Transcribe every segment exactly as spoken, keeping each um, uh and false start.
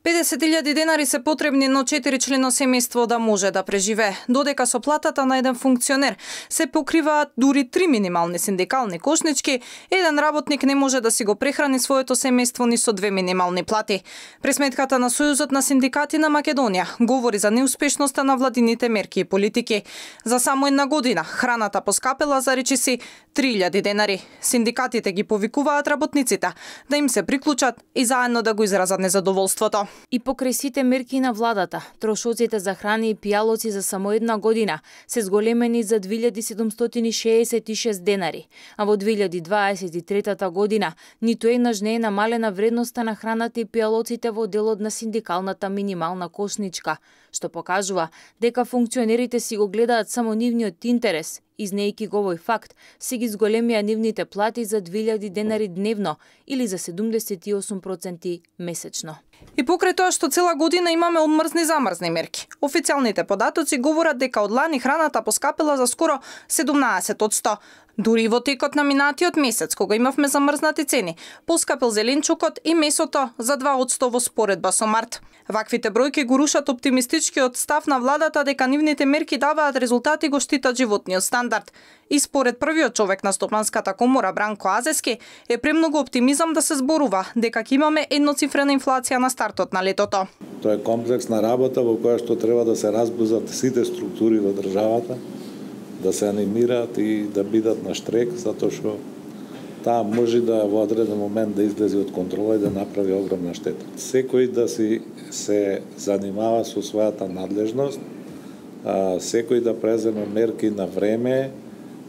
педесет илјади денари се потребни на четиричлено семејство да може да преживее, додека со платата на еден функционер се покриваат дури три минимални синдикални кошнички, еден работник не може да си го прехрани своето семејство ни со две минимални плати. Пресметката на Сојузот на синдикати на Македонија говори за неуспешноста на владините мерки и политики. За само една година храната поскапела за речиси три илјади денари. Синдикатите ги повикуваат работниците да им се приклучат и заедно да го изразат незадоволството. И покрај сите мерки на владата, трошоците за храни и пијалоци за само една година се зголемени за две илјади седумстотини шеесет и шест денари, а во две илјади дваесет и трета година ниту еднаш не е намалена вредноста на храната и пијалоците во делот на синдикалната минимална кошничка, што покажува дека функционерите си го гледаат само нивниот интерес, изнејки го овој факт, се ги зголемија нивните плати за две илјади денари дневно или за седумдесет и осум проценти месечно. И покрај тоа што цела година имаме одмрзни замрзни мерки, официјалните податоци говорат дека од лани храната поскапела за скоро седумнаесет одсто. Дури и во текот на минатиот месец, кога имавме замрзнати цени, поскапел зеленчукот и месото за два одсто во споредба со март. Ваквите бројки го рушат оптимистичкиот став на владата дека нивните мерки даваат резултати и го штитат животниот стандард. И според првиот човек на Стопанската комора Бранко Азески е премногу оптимизам да се зборува дека ќе имаме едноцифрена инфлација на стартот на летото. Тоа е комплексна работа во која што треба да се разбузат сите структури во државата, да се анимираат и да бидат на штрек, затоа што таа може да во одреден момент да излезе од контрола и да направи огромна штета. Секој да си се занимава со својата надлежност, секој да преземе мерки на време,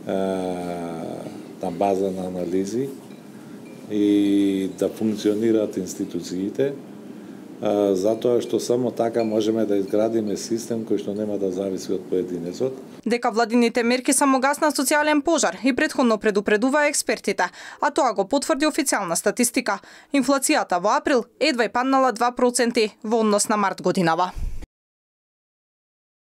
на база на анализи и да функционираат институциите, затоа што само така можеме да изградиме систем кој што нема да зависи од поединецот. Дека владините мерки само гаснат социјален пожар и претходно предупредува експертите, а тоа го потврди официјална статистика. Инфлацијата во април едва и паднала два проценти во однос на март годинава.